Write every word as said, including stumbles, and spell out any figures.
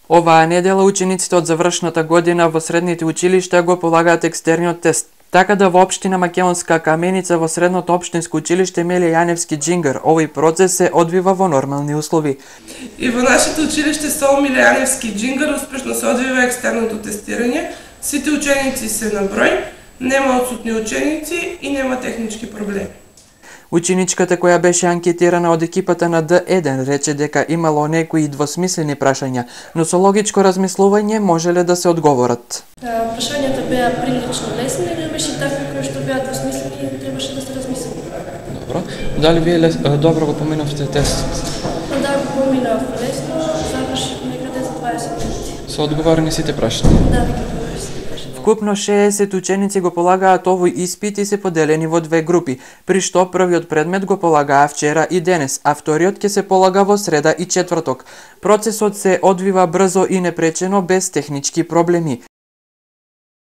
Оваа недела учениците од завршната година во средните училишта го полагаат екстерниот тест. Така да во општина Македонска Каменица во средното општинско училиште Емилија Јаневски Џингар, овој процес се одвива во нормални услови. И во нашето училиште со Емилија Јаневски Џингар успешно се одвива екстерното тестирање. Сите ученици се на број, нема отсутни ученици и нема технички проблеми. Ученичката која беше анкетирана од екипата на Д еден рече дека имало некои двосмислени прашања, но со логичко размислување можеле да се одговорат. Прашањата беа прилично лесни, или беше такви кои што беа двосмислени и требаше да се размисли. Добро. Дали вие лес, добро го поминавте тестот? Да, го поминав лесно, завршив некаде за дваесет минути. Со одговорени сите прашања? Да, веќе одговорени сите прашања. Вкупно шеесет ученици го полагаат овој испит и се поделени во две групи, при што првиот предмет го полагаа вчера и денес, а вториот ќе се полага во среда и четврток. Процесот се одвива брзо и непречено без технички проблеми.